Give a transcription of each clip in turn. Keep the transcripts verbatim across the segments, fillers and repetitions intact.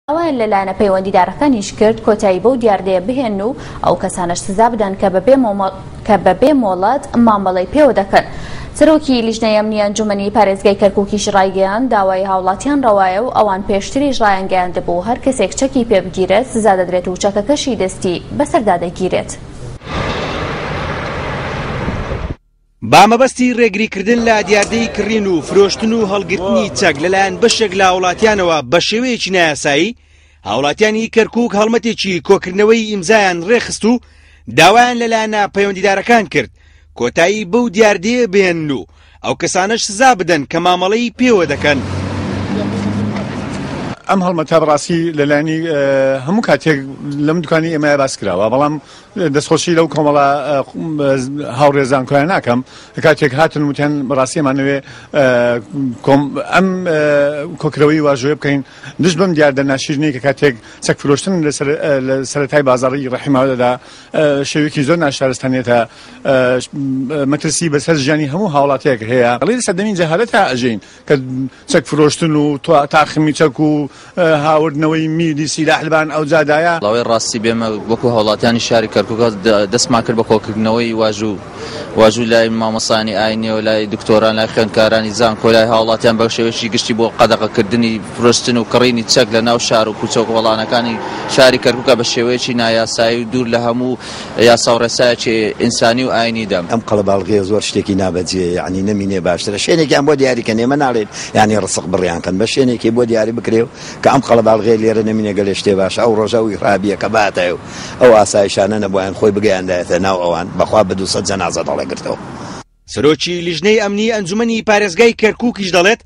داوایان لە لایەنە پەیوەندیدارەکانیش کرد کۆتایی بەو دیاردەیە بهێنن و ئەو کەسانەش سزا بدەن کە بەبێ مۆڵەت مامەڵەی پێوە دەکەن. سەرۆکی لیژنەی ئەمنی ئەنجومەنی پارێزگای کەرکووکیش ڕایگەیاند داوای هاوڵاتیان ڕەوایە و ئەوان پێشتریش ڕایانگەیاندبوو هەر کەسێک چەکی پێ بگیرێت سزا دەدرێت و چەکەکەشی دەستی بەسەردا دەگیرێت. با مەبەستی ڕێگریکردن لە دیاردەی کڕین و فرۆشتن و هەڵگرتنی چەک لەلایەن بەشێک لە هاوڵاتیانەوە بە شێوەیەکی نایاسایی، هاوڵاتیانی کەرکووک هەڵمەتێکی کۆکردنەوەی ئیمزایان ڕێخست و داوایان لەلایەنە پەیوەندیدارەکان کرد کۆتایی بەو دیاردەیە بهێنن و ئەو کەسانەش سزا بدەن کە مامەڵەی پێوە دەکەن. ئەم هەڵمەتە بەڕاستی لەلایەنی هەموو کاتێک لەم دوکانی ئێمە باس کراوە، بەڵام دەستخۆشی لەو کۆمەڵە هاوڕێ زانکۆیان ناکەم کاتێک هاتن وتیان بەڕاستی ئەمانەوێ ئەم کۆکرەوەی واژۆیە بکەین دژ بەم دیاردە ناشیرینەی کە کاتێک چەک فرۆشتن لە سەرەتای بازاڕی ڕەحیماوەدا شێوەیەکی زۆر ناشارستانیەتە مەترسی بەسەر ژیانی هەموو هاوڵاتیەک هەیە. ئەڵێ لە سەردەمی جەهالەتا ئەژین کە چەک فرۆشتن و تاخمی چەک و هاوردنەوەی میلی سیلاح لەبان ئەو جادایە. ڵاوەی ڕاستی بێمە وەکو هاوڵاتیانی شاری کەرکووک دەستمان کرد بە کۆکردنەوەی واژوو واژوو لای مامۆستایانی ئاینی و لای دکتۆران لای خوێندکارانی زانکۆ لای هاوڵاتیان بە شێوەیەکی گشتی بۆ قەدەغەکردنی فرۆشتن و کڕینی چەک لە ناو شار و کوچە و کۆڵانەکانی شاری کەرکووکە بە شێوەیەکی نایاسایی و دوور لە هەموو یاسا و ڕێسایەکی ئینسانی و ئاینیدا. ئەم قەڵەباڵغەیە زۆر شتێکی نابەجێ، یعنی نەمینێ باشترە شوێنێکیان بۆ دیاریکەن، ئێمە ناڵێن یعنی ڕسق بڕیان کەن، بە شوێنێکی بۆ دیاری بکرێ کە ئەم قەڵەباڵغەیە لێرە نەمینێ گەلێ شتێ باشە. ئەو ڕۆژە ئەو ئیرهابیە کە باتایە و ئەو ئاسایشانە نەبوویان خۆی بگەیاندایەتە ناو ئەوان بەخوا بە دووسەد جەنازە دەڵێگرتەوە. سەرۆکی لیژنەی ئەمنی ئەنجومەنی پارێزگای کەرکووکیش دەڵێت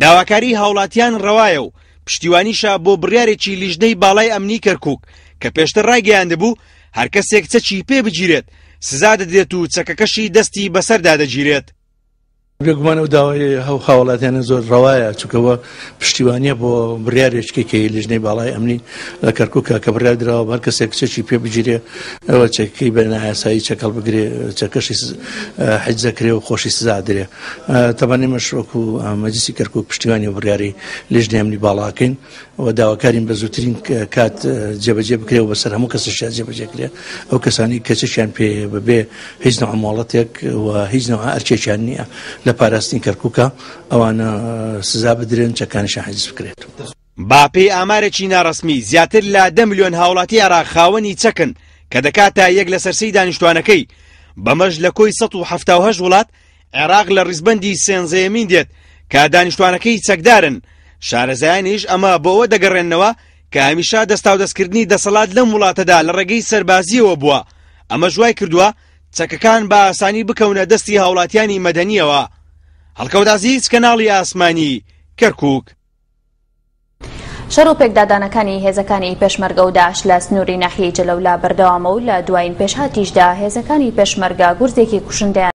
داواکاری هاوڵاتیان ڕەوایە و پشتیوانیشە بۆ بڕیارێکی لیژنەی باڵای ئەمنی کەرکووک کە پێشتر ڕایگەیاندبوو هەر کەسێک چەکی پێ بگیرێت سزا دەدرێت و چەکەکەشی دەستی بەسەردا دەگیرێت. بێگومان ئەو داوای هاوڵاتیانە زۆر ڕەوایە، چونکەوە پشتیوانیە بۆ بڕیارێکی کە لیژنەی باڵای ئەمنی لە کەرکووکە کە بڕیار دراوە هەر کەسێک چەکی پێ بگیرێ ئەوە چەکەکەی بە نایاسایی چەکەڵ بگرێ چەکەشی حیجز دەکرێ و خۆشی سزا درێ. تەبعەن ئێمەش وەکو مەجلیسی کەرکووک پشتیوانی بڕیاری لیژنەی ئەمنی باڵاکەین و داواکارین بە زووترین کات جێبەجێ بکرێ و بەسەر هەموو کەسێکیان جێبەجێ کرێ ئەو کەسانی کە چەکیان پێ بەبێ هیچ نوع مۆڵەتێک و هیچ نوع ئەرکێکیان نییە لە پاراستنی کەرکووکە ئەوانە سزا بدرێن چەکانیشان حیجز بکرێت. با پێی ئامارێکی ناڕەسمی زیاتر لە دە ملیۆن هاوڵاتی عێراق خاوەنی چەکن کە دەکاتە یەک لەسەر سێی دانیشتوانەکەی، بەمەش لە کۆی سەد و حەفتا و هەشت وڵات عێراق لە ڕیزبەندی سێنزەیەمین دێت کە دانیشتوانەکەی چەکدارن. شارەزایانیش ئەمە بۆ ئەوە دەگەڕێننەوە کە هەمیشە دەستاودەستکردنی دەسەڵات لەم وڵاتەدا لە ڕێگەی سەربازیەوە بووە، ئەمەش وای کردووە چەکەکان بە ئاسانی بکەونە دەستی هاوڵاتیانی مەدەنیەوە. هەڵکەوت عەزیز، کەناڵی ئاسمانی کەرکووک. شەڕ و پێکدادانەکانی هێزەکانی پێشمەرگە و داعش لە سنووری ناحیەی جەلەولا بەردەوامە و لە دوایین پێشهاتیشدا هێزەکانی پێشمەرگە گورزێکی کوشندەیان